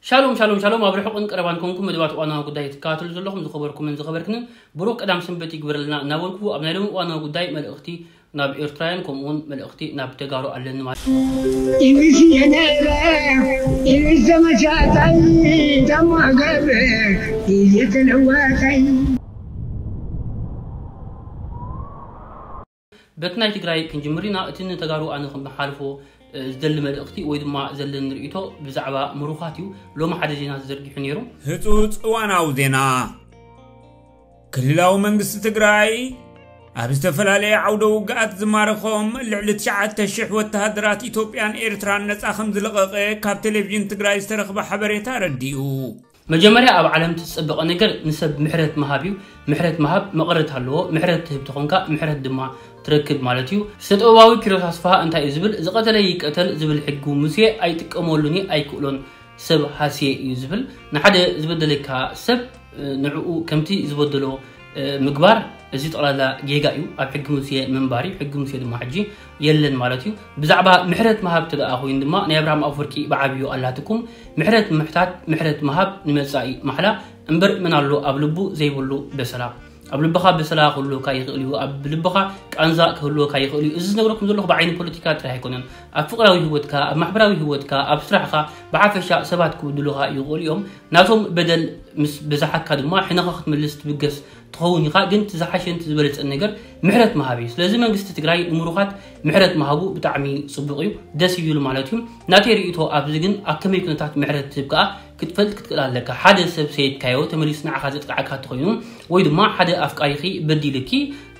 ሻሎም ሻሎም ሻሎም፣ ኣብ ርሑቕን ቀረባን ኮንኩም መደባት እዋናዊ ጉዳይ ትከታተሉ ዘለኹም ዝኸበርኩምን ዝኸበርክንን ብሩኽ ቀዳም ሰንበት ይግበረልና እናበልኩ፣ ኣብ ናይ ሎሚ እዋናዊ ጉዳይ መልእኽቲ ናብ ኤርትራውያን፣ ከምኡውን መልእኽቲ ናብ ተጋሩ ኣለኒ ማለት እዩ። ኢቢሲ የነረ ኢቢሲ ዘመቻታይ ተማገብ ኢዚ ተለዋታይ በቲ ናይ ትግራይ ክንጅምር ኢና። እቲ ንተጋሩ ኣነ ክመሓልፎ ዝደሊ መልእኽቲ ወይ ድማ ዘለኒ ርእይቶ ብዛዕባ ምሩኻት እዩ። ሎሚ ሓደ ዜና ተዘርጊሑ ነይሩ። ህጹጽ እዋናዊ ዜና። ክልላዊ መንግስቲ ትግራይ ኣብ ዝተፈላለየ ዓውደ ውግኣት ዝማረኾም ልዕሊ ትሽዓተ ሽሕ ወተሃደራት ኢትዮጵያን ኤርትራን ነጻ ከም ዝለቐቐ ካብ ቴሌቪዥን ትግራይ ዝተረኽበ ሓበሬታ ኣረዲኡ። መጀመርያ ኣብ ዓለም እቲ ዝጸበቐ ነገር ንሰብ ምሕረት ምሃብ እዩ። ምሕረት ምሃብ መቐረት ኣለዎ። ምሕረት ትህብ ተኾንካ ምሕረት ድማ ትረክብ ማለት እዩ። ስነ ጥበባዊ ኪሮስ ኣስፍሃ እንታይ እዩ ዝብል? ዝቐተለ ይቀተል ዝብል ሕጊ ሙሴ ኣይጥቀመሉን እየ፣ ኣይክእሎን። ሰብ ሃስየ እዩ ዝብል። ንሓደ ዝበደለካ ሰብ ንዕኡ ከምቲ ዝበደሎ ምግባር፣ እዚ ጠቕላላ ጌጋ እዩ። ኣብ ሕጊ ሙሴ ምንባር እዩ። ሕጊ ሙሴ ድማ ሕጂ የለን ማለት እዩ። ብዛዕባ ምሕረት ምሃብ ተደኣ ኮይኑ ድማ ናይ ኣብርሃም ኣፈወርቂ ብዓብዩ ኣላትኩም። ምሕረት ምሕታት፣ ምሕረት ምሃብ ንመጻኢ ማሕላ እምበር፣ መን ኣሎ ኣብ ልቡ ዘይብሉ በሰላ? ኣብ ልብኻ በሰላ ክህልወካ ይኽእል እዩ፣ ኣብ ልብኻ ቃንዛ ክህልወካ ይኽእል እዩ። እዚ ዝነግረኩም ዘለኹ ብዓይኒ ፖለቲካ ጥራይ ኣይኮነን። ኣብ ፍቕራዊ ህይወትካ፣ ኣብ ማሕበራዊ ህይወትካ፣ ኣብ ስራሕኻ፣ ብሓፈሻ ሰባት ክብድሉኻ ይኽእሉ እዮም። ናቶም በደል ምስ በዛሓካ ድማ ሕነኻ ክትምልስ ትብገስ ትኸውን ኢኻ። ግን እቲ ዝሓሸን እቲ ዝበለጸን ነገር ምሕረት ምሃብ እዩ። ስለዚ መንግስቲ ትግራይ ንምሩኻት ምሕረት ምሃቡ ብጣዕሚ ጽቡቕ እዩ፣ ደስ ይብል ማለት እዩ። ናተይ ርእይቶ ኣብዚ ግን ኣብ ከመይ ኩነታት ምሕረት ትህብ ከኣ ክትፈልጥ ክትክእል ኣለካ። ሓደ ሰብ ሰይድካዮ ተመሊሱ ንዓኻ ዘጥቅዓካ እንተኾይኑ፣ ወይ ድማ ሓደ ኣፍቃሪኺ በዲልኪ፣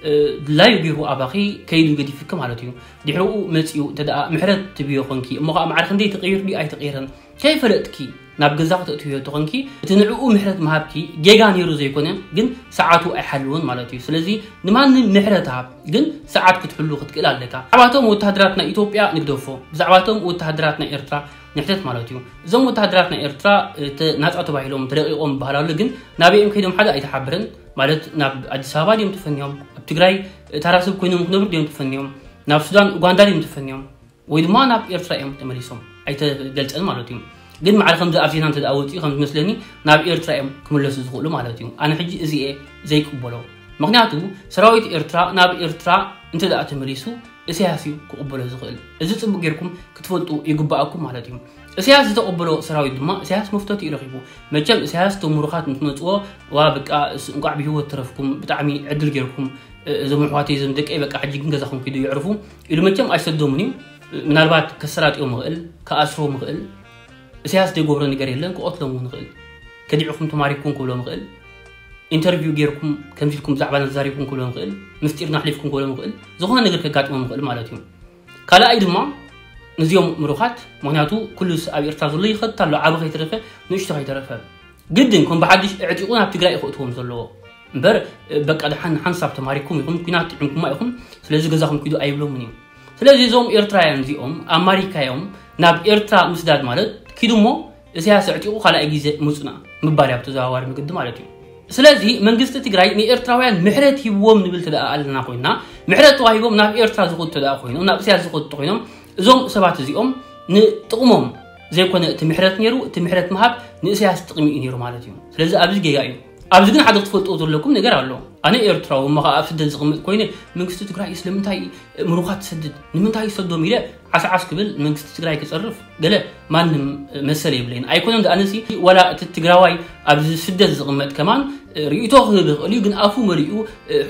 እ፣ ድላዩ ገይሩ ኣባኺ ከይዱ ገዲፍኪ ማለት እዩ። ድሕሪኡ መጺኡ እንተ ደኣ ምሕረት ትብዮ ኾንኪ፣ እሞ ኸኣ ማዕረ ክንደይ ተቐይሩ ድዩ ኣይተቐየረን ከይፈለጥኪ ናብ ገዛ ክተእትውዮ ተኾንኪ፣ እቲ ንዕኡ ምሕረት ምሃብኪ ጌጋ ነይሩ ዘይኮነ፣ ግን ሰዓቱ ኣይሓልውን ማለት እዩ። ስለዚ ንማንም ምሕረት ሃብ፣ ግን ሰዓት ክትሕሉ ክትክእል ኣለካ። ብዛዕባቶም ወተሃደራት ናይ ኢትዮጵያ ንግደፎ፣ ብዛዕባቶም ወተሃደራት ናይ ኤርትራ ንሕተት ማለት እዩ። እዞም ወተሃደራት ናይ ኤርትራ፣ እ፣ ተ-፣ ናጻ ተባሂሎም ተለቒቖም ይበሃል ኣሎ፣ ግን ናበይ እዮም ከይዶም ሓደ ኣይተሓበረን። ማለት ናብ ኣዲስ ኣበባ ድዮም ተፈንዮም፣ ኣብ ትግራይ፣ እ፣ ተራ ሰብ ኮይኖም ክነብሩ ድዮም ተፈንዮም፣ ናብ ሱዳን፣ ኡጋንዳ ድዮም ተፈንዮም፣ ወይ ድማ ናብ ኤርትራ እዮም ተመሊሶም፣ ኣይተገልጸን ማለት እዩ። ግን ማዕረ ከምዚ ኣብ ዜና እንተ ደኣ ወጺኡ ከም ዝመስለኒ ናብ ኤርትራ እዮም ክምለሱ ዝኽእሉ ማለት እዩ። ኣነ ሕጂ እዚ እየ ዘይቅበሎ። ምኽንያቱ ሰራዊት ኤርትራ ናብ ኤርትራ እንተ ደኣ ተመሊሱ ኢሳያስ እዩ ክቕበሎ ዝኽእል። እዚ ጽቡቕ ጌርኩም ክትፈልጡ ይግባኣኩም ማለት እዩ። ኢሳያስ ዝተቐበሎ ሰራዊት ድማ ኢሳያስ መፍተቱ እዩ ረኺቡ። መቸም ኢሳያስ እቶም ምሩኻት ምስ መጽዎ፣ "ዋ በቃ እስ-፣ እንቋዕ ብህይወት ተረፍኩም፣ ብጣዕሚ ዕድል ጌርኩም፣ እ-፣ እዞም ኣሕዋተይ እዞም ደቀይ በቃ ሕጂ ግን ገዛኹም ኪዱ ይዕርፉ" ኢሉ መቸም ኣይሰዶምን እዩ። ምናልባት ከሰላጥዮም ይኽእል፣ ክኣስርዎም ይኽእል። ኢሳያስ ዘይገብሮ ነገር የለን፣ ክቐትሎም እውን ይኽእል። ከዲዕኹም ተማሪኩም ክብሎም ይኽእል። ኢንተርቪው ጌርኩም ከምዚ ኢልኩም ብዛዕባና ተዛሪብኩም ክብሎም ይኽእል። ምስጢርና ኣሕሊፍኩም ክብሎም ይኽእል። ዝኾነ ነገር ከጋጥሞም ይኽእል ማለት እዩ። ካልኣይ ድማ ነዚኦም ምሩኻት፣ ምኽንያቱ ኩሉ ስ-፣ ኣብ ኤርትራ ዘሎ ይኸት ኣሎ፣ ዓቢ ከይተረፈ፣ ንእሽቶ ከይተረፈ። ግድን ከም ብሓድሽ ኣዕጢቑ ናብ ትግራይ እዩ ከእትዎም ዘለዎ። እምበር፣ በቃ ደሓን ሓንሳብ ተማሪኩም ኢኹም፣ ኲናት ጥዒምኩማ ኢኹም፣ ስለዚ ገዛኹም ኪዱ ኣይብሎምን እዩ። ስለዚ እዞም ኤርትራውያን እዚኦም ኣማሪካ እዮም፣ ናብ ኤርትራ ምስዳድ ማለት ኪዱ እሞ ኢሳያስ ኣዕጢቑ ካልኣይ ግዜ ምጹና ምባል እዩ፣ ብተዘዋዋሪ መገዲ ማለት እዩ። ስለዚ መንግስቲ ትግራይ ንኤርትራውያን ምሕረት ሂብዎም ንብል ተደኣ ኣለና ኮይንና፣ ምሕረት ተዋሂቦም ናብ ኤርትራ ዝኸዱ ተደኣ ኮይኖም፣ ናብ እስያስ ዝኸዱ ተኾይኖም፣ እዞም ሰባት እዚኦም ንጥቕሞም ዘይኮነ እቲ ምሕረት ነይሩ፣ እቲ ምሕረት ምሃብ ንእስያስ ጥቕሚ እዩ ነይሩ ማለት እዩ። ስለዚ ኣብዚ ጌጋ እዩ። ኣብዚ ግን ሓደ ክትፈልጥዎ ዘለኩም ነገር ኣሎ። ኣነ ኤርትራዊ እሞ ኸዓ ኣብ ስደት ዝቕመጥ ኮይነ፣ መንግስቲ ትግራይ ስለምንታይ ምሩኻት ትሰድድ? ንምንታይ ይሰዶም ኢለ ዓስዓስ ክብል መንግስቲ ትግራይ ክጸርፍ ገለ ማንም መሰል የብለይን። ኣይኮነን ደኣ ነሲ ዋላ እቲ ትግራዋይ ኣብዚ ስደት ዝቕመጥ ከማን ርእይቶ ክህብ ይኽእል እዩ፣ ግን ኣፉ መሊኡ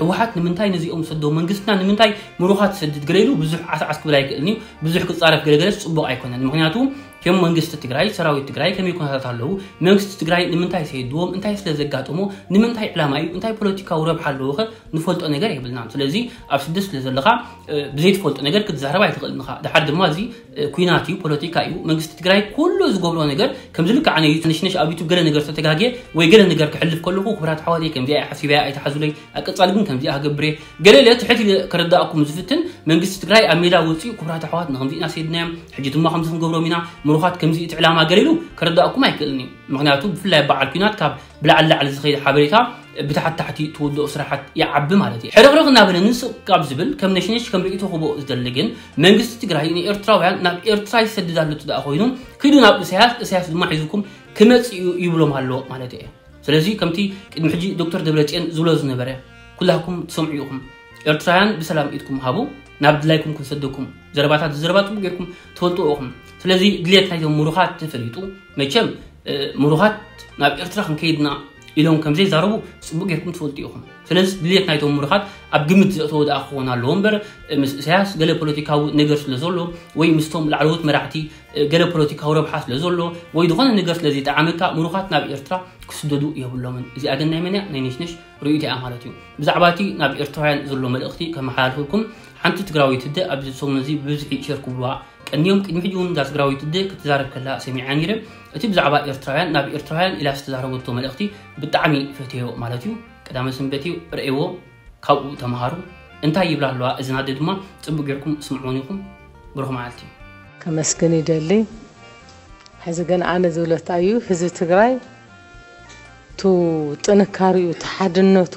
ህወሓት ንምንታይ ነዚኦም ሰዶም፣ መንግስትና ንምንታይ ምሩኻት ትሰድድ ገለ ኢሉ ብዙሕ ዓስዓስ ክብል ኣይክእልን እዩ። ብዙሕ ክጻረፍ ገለገለስ ጽቡቕ ኣይኮነን። ምኽንያቱ ከም መንግስቲ ትግራይ፣ ሰራዊት ትግራይ ከመይ ኩነታት ኣለዉ? መንግስቲ ትግራይ ንምንታይ ሰይድዎም? እንታይ ስለ ዘጋጠሞ? ንምንታይ ዕላማ እዩ? እንታይ ፖለቲካዊ ረብሓ ኣለዎ ኸ? ንፈልጦ ነገር የብልናን። ስለዚ ኣብ ስደት ስለ ዘለኻ፣ እ፣ ብዘይትፈልጦ ነገር ክትዛረብ ኣይትኽእልን ኢኻ። ድሓር ድማ እዚ፣ እ፣ ኲናት እዩ፣ ፖለቲካ እዩ። መንግስቲ ትግራይ ኩሉ ዝገብሮ ነገር ከምዚ ልክዕ ኣነ ነሽነሽ ኣብ ዩቱብ ገለ ነገር ተተጋግየ ወይ ገለ ነገር ክሕልፍ ከለኹ፣ ክቡራት ኣሕዋተይ ከምዚኣ እየ ሓሲበያ ኣይትሓዙለይ፣ ኣብ ቀጻሊ ግን ከምዚኣ ክገብር እየ። ገለ ኢለ ትሕት ኢለ ከረዳእኩም ዝፍትን፣ መንግስቲ ትግራይ ኣብ ሜዳ ወፂኡ፣ ክቡራት ኣሕዋት ንከምዚ ኢና ሰይድናዮም፣ ሕጂ ድማ ከምዚ ክንገብሮም ኢና፣ ምሩኻት ከምዚ እቲ ዕላማ ገለ ኢሉ ከረዳእኩም ኣይክእልን እዩ። ምኽንያቱ ብፍላይ በዓል ኲናት ካብ ብላዕሊ ላዕሊ ዝኸይድ ሓበሬታ ብታሕቲ ታሕቲ ትውድኦ ስራሓት ይዓቢ ማለት እዩ። ሕርኽርኽ እናበለ ንስቕ ካብ ዝብል ከም ነሽነሽ ከም ርእይቶ ክቦ ዝደሊ ግን መንግስቲ ትግራይ ንኤርትራውያን ናብ ኤርትራ ይሰድድ ኣሎ እቱ ደኣ ኮይኑ ኪዱ ናብ እሳያስ፣ እሳያስ ድማ ሒዙኩም ክመጽእ እዩ ይብሎም ኣሎ ማለት እየ። ስለዚ ከምቲ ቅድሚ ሕጂ ዶክተር ደብረጽዮን ዝብሎ ዝነበረ፣ ኩላኩም ትሰምዑ ኢኹም። ኤርትራውያን ብሰላም ኢድኩም ሃቡ፣ ናብ ድላይኩም ክንሰደኩም። ዘረባታት ዘረባ ጽቡቅ ጌርኩም ትፈልጡ ኢኹም። ስለዚ ድሌት ናይዞም ምሩኻት ተፈሊጡ፣ መቸም ምሩኻት ናብ ኤርትራ ክንከይድና ኢሎም ከም ዘይዛረቡ ጽቡቅ ጌርኩም ትፈልጡ ኢኹም። ስለዚ ድሌት ናይቶም ምሩኻት ኣብ ግምት ዘእተወ ደኣ ክኸውን ኣለዎ እምበር፣ ምስ ኢሳያስ ገለ ፖለቲካዊ ነገር ስለ ዘሎ ወይ ምስቶም ላዕለዎት መራሕቲ ገለ ፖለቲካዊ ረብሓ ስለ ዘሎ ወይ ዝኾነ ነገር ስለ ዘይጠዓመካ ምሩኻት ናብ ኤርትራ ክስደዱ የብሎምን። እዚኣ ግን ናይ መን እያ? ናይ ነሽነሽ ርእይቶ እያ ማለት እዩ። ብዛዕባ እቲ ናብ ኤርትራውያን ዘሎ መልእኽቲ ከመሓላልፈልኩም፣ ሓንቲ ትግራወይቲ ኣደ ኣብዚ ሰሙን እዚ ብብዝሒ ሸር ክብሉዋ ቀንዮም። ቅድሚ ሕጂ እውን እዛ ትግራወይቲ ኣደ ክትዛረብ ከላ ሰሚዓ ነይረ። እቲ ብዛዕባ ኤርትራውያን ናብ ኤርትራውያን ኢላ ዝተዛረበቶ መልእኽቲ ብጣዕሚ ፈትየዮ ማለት እዩ። ቀዳመ ሰንበት እዩ፣ ርእይዎ፣ ካብኡ ተምሃሩ። እንታይ ይብላ ኣለዋ እዝና ኣደ ድማ ጽቡቅ ጌርኩም ስምዕወን ኢኹም። ብሩኽ መዓልቲ። ከመስግን ይደሊ። ሕዚ ግን ኣነ ዝብሎ እንታይ እዩ፣ ህዝቢ ትግራይ ቱ ጥንካሪኡ፣ ቱ ሓድነቱ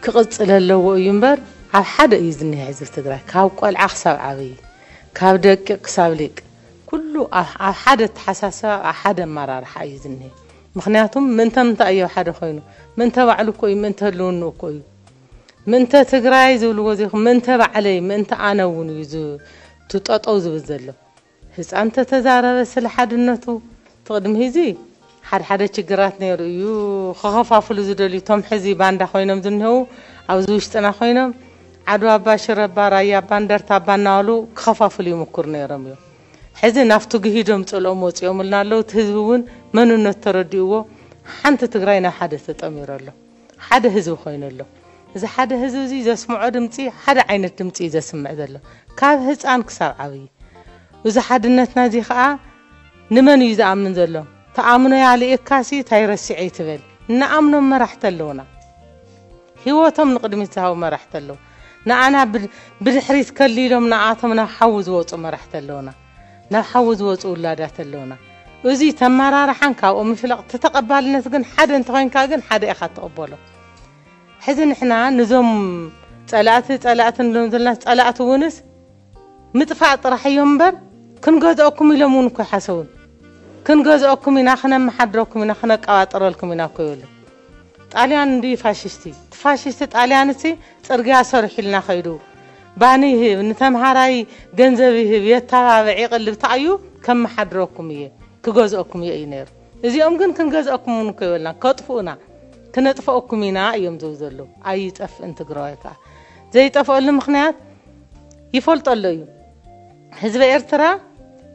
ክቕጽል ኣለዎ እዩ እምበር፣ ኣብ ሓደ እዩ ዝኒሀ ህዝቢ ትግራይ። ካብ ቆልዓ ክሳብ ዓብዪ፣ ካብ ደቂቕ ክሳብ ሊቅ፣ ኩሉ ኣብ ኣብ ሓደ ኣተሓሳስባ፣ ኣብ ሓደ ኣመራርሓ እዩ ዝኒሀ። ምኽንያቱም ምእንተ ምንታይ እዩ ኣብ ሓደ ኮይኑ? ምእንተ ባዕሉ እኮ እዩ፣ ምእንተ ህልውንኡ እኮ እዩ። ምእንተ ትግራይ ዝብልዎ ዘይኮነ፣ ምእንተ ባዕለይ፣ ምእንተ ኣነ እውን እዩ ዝ-፣ እቲ ጠጠው ዝብል ዘሎ። ህፃን እንተተዛረበ ስለ ሓድነቱ፣ እቲ ቅድሚ ሕዚ ሓደ ሓደ ችግራት ነይሩ እዩ። ክኸፋፍሉ ዝደልዩ፣ እቶም ሕዚ ባንዳ ኮይኖም ዝኒሀው፣ ኣብዚ ውሽጥና ኮይኖም፣ ዓድዋ ኣባ፣ ሽረ ኣባ፣ ራያ ኣባ፣ እንደርታ ኣባ እናበሉ ክኸፋፍሉ ይምኩሩ ነይሮም እዮም። ሕዚ ናብቲ ግሂዶም ፅልኦም ወፂኦምልና ኣለዉ። እቲ ህዝቢ እውን መንነቱ ተረዲእዎ፣ ሓንቲ ትግራይ ናብ ሓደ ተጠሚሩ ኣሎ። ሓደ ህዝቢ ኮይኑ ኣሎ። እዚ ሓደ ህዝቢ እዚ ዘስምዖ ድምፂ ሓደ ዓይነት ድምፂ እዩ ዘስምዕ ዘሎ፣ ካብ ህፃን ክሳብ ዓብዪ። እዚ ሓድነትና እዚ ከዓ ንመን እዩ ዝኣምን ዘሎ? ተኣምኖ ያልእካሲ ታይ ረሲዐ ይትበል። እናኣምኖም መራሕቲ ኣለውና፣ ህይወቶም ንቕድሚት ዝሃቡ መራሕቲ ኣለዉ። ንኣና ብድ-፣ ብድሕሪት ከሊሎም ንኣቶም ናብ ሓዊ ዝወፁ መራሕቲ ኣለውና፣ ናብ ሓዊ ዝወፁ ውላዳት ኣለውና። እዚ ተመራርሓን ካብኦም ምፍላቕ፣ እቲ ተቐባልነት ግን ሓደ እንተኾይንካ ግን ሓደ ኢኻ ትቕበሎ። ሕዚ ንሕና ንዞም ጸላእቲ ጸላእቲ ንብሎም ዘለና ጸላእቲ እውንስ ምጥፋእ ጥራሕ እዮም እምበር ክንገዝኦኩም ኢሎም እውን እኮ ይሓሰቡን። ክንገዝኦኩም ኢና፣ ክነመሓድረኩም ኢና፣ ክነቀባጥረልኩም ኢና እኮ ይብሉ። ጣልያን እንዲ ፋሽስቲ፣ እቲ ፋሽስቲ ጣልያን እሲ ጽርግያ ሰሪሑልና ከይዱ፣ ባኒ ይህብ፣ ንተምሃራይ ገንዘብ ይህብ፣ የተባብዕ፣ ይቕልብ፣ ተኣዩ ከመሓድረኩም እየ፣ ክገዝኦኩም እየ እዩ ነይሩ። እዚኦም ግን ክንገዝኦኩም እውን እኮ ይበልና፣ ከጥፍኡና፣ ክነጥፍኦኩም ኢና እዮም ዝብሉ ዘለዉ። ኣይጠፍእን ትግራዋይ ከዓ። ዘይጠፍአሉ ምኽንያት ይፈልጦ ኣሎ እዩ። ህዝቢ ኤርትራ፣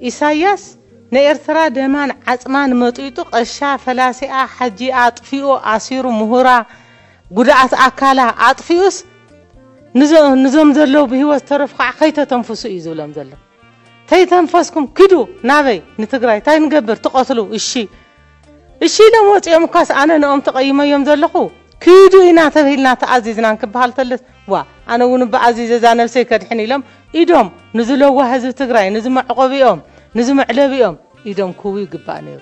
ኢሳያስ ንኤርትራ ደማን ዓጽማን መጢጡ፣ ቀሻ ፈላሲኣ ሓጂ ኣጥፊኡ፣ ኣሲሩ፣ ምሁራ፣ ጉድኣት ኣካላ ኣጥፊኡስ፣ ንዞ-፣ ንዞም ዘለዉ ብህይወት ዝተረፉ ከዓ ከይተተንፍሱ እዩ ዝብሎም ዘሎ። ተይተንፈስኩም ኪዱ። ናበይ? ንትግራይ። ታይ ንገብር? ትቐትሉ። እሺ፣ እሺ ኢሎም ወፂኦም እኳስ ኣነ ንኦም ተቐይመዮም ዘለኹ። ኪዱ ኢና ተብሂልና ተኣዚዝናን ክበሃል ተለስ፣ ዋ፣ ኣነ እውን እባ ኣዚዘ እዛ ነብሰይ ከድሕን ኢሎም ኢዶም ንዚ ለዋህ ህዝቢ ትግራይ፣ ንዚ መዕቆቢኦም፣ ንዚ መዕለቢኦም ኢዶም ክህቡ ይግባእ ነይሩ።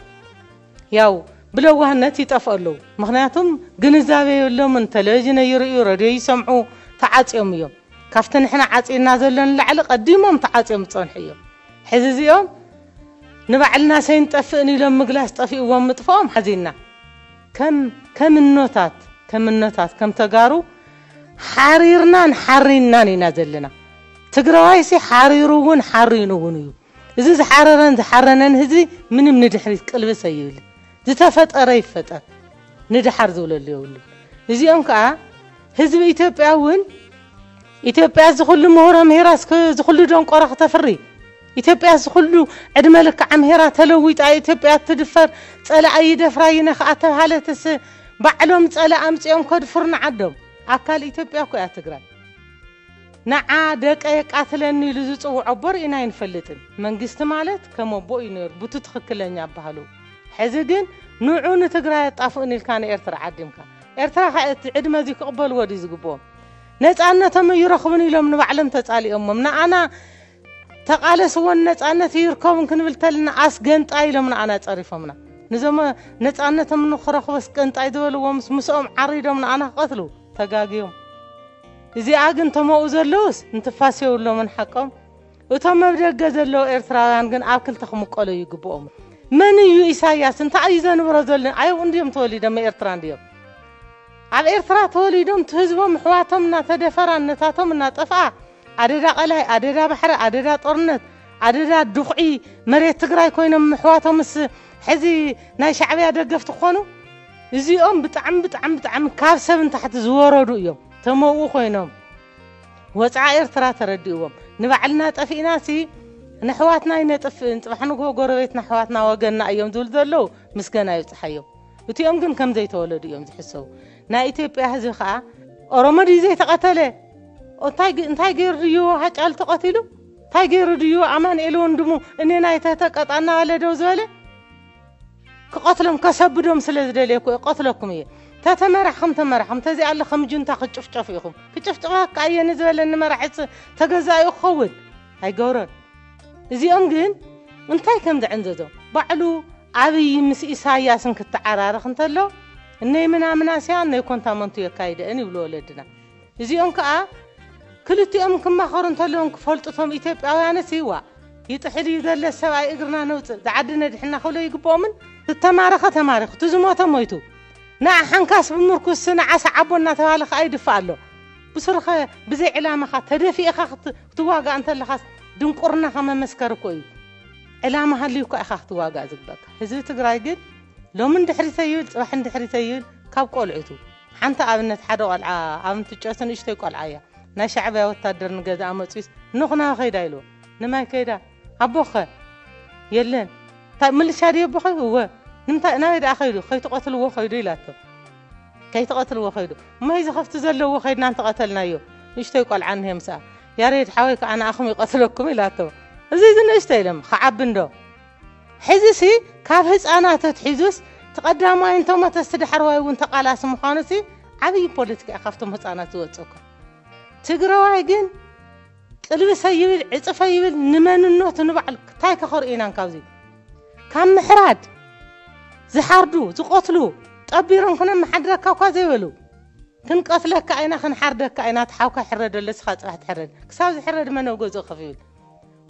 ያው ብለዋህነት ይጠፍኡ ኣለዉ። ምኽንያቱም ግንዛቤ የብሎምን። ቴሌቪዥን ይርእዩ፣ ረድዮ ይሰምዑ፣ ተዓፅዮም እዮም። ካብቲ ንሕና ዓፂና ዘሎ ንላዕሊ ቀዲሞም ተዓፅዮም ዝፀንሑ እዮም። ሕዚ እዚኦም ንባዕልና ሰይንጠፍእን ኢሎም ምግላስ ጠፊእዎም ምጥፍኦም ሓዚንና። ከም፣ ከም እኖታት፣ ከም እኖታት፣ ከም ተጋሩ ሓሪርናን ሓሪንናን ኢና ዘለና። ትግራዋይሲ ሓሪሩ እውን ሓሪኑ እውን እዩ። እዚ ዝሓረረን ዝሓረነን ህዝቢ ምንም ንድሕሪት ቅልብስ ኣይብል። ዝተፈጠረ ይፈጠር፣ ንድሓር ዝብለሉ የብሉ። እዚኦም ከዓ ህዝቢ ኢትዮጵያ እውን፣ ኢትዮጵያ እዚ ኩሉ ምሁር ኣምሂራ፣ እስከ እዚ ኩሉ ደንቆሮ ክተፍሪ፣ ኢትዮጵያ እዚ ኩሉ ዕድመ ልክዓ ኣምሂራ ተለዊጣ፣ ኢትዮጵያ ትድፈር፣ ጸላኢ ይደፍራ ይነኽኣ ተባሃለትስ፣ ባዕሎም ጸላኢ ኣምጺኦም ከድፍሩ ንዓዶም። ኣካል ኢትዮጵያ እኮ እያ ትግራይ። ንዓ ደቀ የቃትለኒ ኢሉ ዝጽውዖ ኣቦ ርኢና ኣይንፈልጥን። መንግስቲ ማለት ከም ኣቦ እዩ ነይሩ፣ ብቱ ትኽክለኛ ኣባህሉ። ሕዚ ግን ንዑ ንትግራይ ኣጣፍኡን ኢልካ ንኤርትራ ዓዲምካ። ኤርትራ ከ እቲ ዕድመ እዚ ክቕበልዎ ድዩ ዝግብኦም? ነጻነቶም ይረኽቡን ኢሎም ንባዕሎም ተጻሊኦሞም። ንኣና ተቓለስዎን ነጻነት ይርከቡን ክንብል ተልና ኣስገንጣይ ኢሎም ንኣና ጸሪፎምና። ንዞም ነጻነቶም ንኽረኽቡ ኣስገንጣይ ዝበልዎም ምስኦም ዓሪዶም ንኣና ክቐትሉ ተጋግዮም። እዚኣ ግን ተመኡ ዘለውስ እንትፋስ የብሎምን ሓቆም። እቶም ኣብ ደገ ዘለዉ ኤርትራውያን ግን ኣብ ክልተ ክምቀሉ ይግብኦም። መን እዩ ኢሳያስ? እንታይ እዩ ዘንብሮ ዘሎ? ኣየው እንድዮም ተወሊዶም ኤርትራ እንድዮም። ኣብ ኤርትራ ተወሊዶም እቲ ህዝቦም ኣሕዋቶም እናተደፈራ እነታቶም እናጠፍኣ ኣደዳ ቀላይ ኣደዳ ባሕሪ ኣደዳ ጦርነት ኣደዳ ድኹዒ መሬት ትግራይ ኮይኖም ኣሕዋቶምስ ሕዚ ናይ ሻዕብያ ደገፍቲ ክኾኑ? እዚኦም ብጣዕሚ ብጣዕሚ ብጣዕሚ ካብ ሰብ ንታሕቲ ዝወረዱ እዮም። ተመኡ ኮይኖም ወፅዓ ኤርትራ ተረዲእዎም ንባዕልና ጠፊእና ሲ ንሕዋትና ይነጥፍእን ፅባሕ ንግሆ ጎረቤትና ኣሕዋትና ወገንና እዮም ዝብሉ ዘለዉ ምስገና ይብፅሓዮም። እቲኦም ግን ከም ዘይተወለዱ እዮም ዝሕሰቡ። ናይ ኢትዮጵያ ህዝቢ ከዓ ኦሮሞ ድዩ ዘይተቐተለ? እንታይ ገይሩ ድዩ ሃጫሉ ተቐቲሉ? እንታይ ገይሩ ድዩ ኣማንኤል ወንድሙ እኔ ናይ ተተቀጣና ኣለ ደው ዝበለ? ክቐትሎም ከሰብዶም ስለ ዝደልየ እኮ እየ፣ ቀትለኩም እየ። ተተመራሕኹም ተመራሕኹም፣ ተዚኣ ኣሎ ከም ጁንታ ክጭፍጨፉ ኢኹም። ክጭፍጨፋካ እየ ንዝበለኒ መራሒ ፅ-፣ ተገዛኡ ክኸውን ኣይገብሮን። እዚኦም ግን እንታይ ከም ዘዕንዘዞም ባዕሉ ኣብይ ምስ ኢሳያስን ክተዓራረኽ እንተሎ እነይ ምናምናስያ እነይ ኮንታመንቱ የካይደአን ይብሉ ወለድና። እዚኦም ከኣ ክልቲኦም ክማኸሩ እንተለዎም ክፈልጡ እቶም ኢትዮጵያውያንስ ይዋ ይጥሕል እዩ ዘለ ሰብኣይ እግርና ነውፅእ ዝዓዲ ነድሕና ክብሎ ይግብኦምን ዝተማረኸ ተማሪኹ እቲ ዝሞተ ሞይቱ ንዓ ሓንካስ ብምርኩስ ንዓ ሰዓቦ እናተባለ ከኣ ይድፋእ ኣሎ። ብስሩኸ ብዘይ ዕላማኻ ተደፊእኻ ክት- ክትዋጋእ እንተለኻስ ድንቁርናኻ መመስከሪ እኮ እዩ። ዕላማ ሃልዩካ ኢኻ ክትዋጋእ ዝግበካ። ህዝቢ ትግራይ ግን ሎምን ድሕሪተ ይብል ፅባሕን ድሕሪተ ይብል ካብ ቆልዑቱ ሓንቲ ኣብነት ሓደ ቆልዓ ኣብ እንትጨቱ ንእሽተይ ቆልዓ እያ ናይ ሻዕብያ ወታደር ንገዛኣ መፅዩስ ንኹና ከይዳ ኢልዎ ንማይ ከይዳ ኣቦኸ የለን እንታይ ምልሻ ድዮ ኣቦኸ እወ ንምንታይ ናበይ ደኣ ከይዱ ከይትቐትልዎ ከይዱ ኢላቶ ከይትቐትልዎ ከይዱ እሞ እዚ ከፍቲ ዘለዎ ከይድና እንተቐተልናዮ ንእሽተይ ቆልዓ እንሄ ምስኣ ያሬድ ሓወይ ከዓ ንኣኹም ይቐትለኩም ኢላቶ እዚ እዚ ንእሽተይ ኢሎም ክዓቢ እንዶ ሕዚ ሲ ካብ ህፃናት ኣትሒዙስ እቲ ቀዳማይ እንተሞተስ እቲ ዳሕረዋይ እውን ተቃላሲ ምዃኑ ሲ ዓብዪ ፖለቲካ እዩ ካብቶም ህፃናት ዝወፅእ እኮ ትግራዋይ ግን ቅልብሰ ይብል ዕፅፈ ይብል ንመንነቱ ንባዕሉ እንታይ ከኸርኢናን ካብዚ ካብ ምሕራድ ዝሓርዱ ዝቆትሉ ጠቢሮም ክነመሓድረካ እኳ ዘይበሉ ክንቀትለካ ኢና ክንሓርደካ ኢና እቲ ሓውካ ይሕረደሉ እስኻ ፅባሕ ትሕረድ ክሳብ ዝሕረድ መን ኣብ ገዝኡ ከፍ ይብል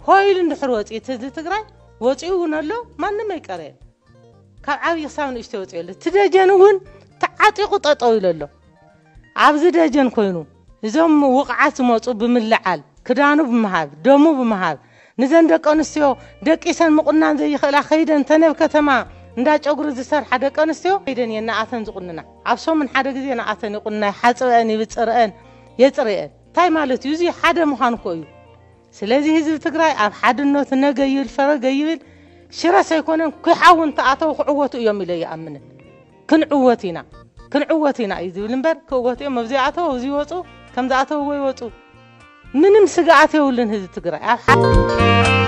ሆይሉ እንድሕር ወፂኡ እቲ ህዝቢ ትግራይ ወፂኡ እውን ኣሎ ማንም ኣይቀረየን ካብ ዓብዪ ክሳብ ንእሽተይ ወፂኡ ኣሎ እቲ ደጀን እውን ተዓጢቑ ጠጠው ኢሉ ኣሎ ኣብዚ ደጀን ኮይኑ እዞም ውቕዓት ዝመፁ ብምልዓል ክዳኑ ብምሃብ ደሙ ብምሃብ ንዘን ደቂ ኣንስትዮ ደቂሰን ምቑናን ዘይኽእላ ከይደን ተነብ ከተማ እንዳ ጨጉሪ ዝሰርሓ ደቂ ኣንስትዮ ከይደን እየን ንኣተን ዝቑንና ኣብ ሰሙን ሓደ ግዜ ንኣተን ይቑንና ይሓፅበአን ይብፅርአን የፅርየን እንታይ ማለት እዩ እዚ ሓደ ምዃን እኮ እዩ ስለዚ ህዝቢ ትግራይ ኣብ ሓድነቱ ነገ ይብል ፈረገ ይብል ሽረስ ኣይኮነን ኩሓዊ እንተኣተው ክዕወቱ እዮም ኢለ ይኣምንን ክንዕወት ኢና ክንዕወት ኢና እዩ ዝብል እምበር ክእወት እዮም ኣብዚ ኣተው ኣብዚ ይወፁ ከም ዝኣተውዎ ይወፁ ምንም ስግኣት የብሉን ህዝቢ ትግራይ ኣብ ሓደ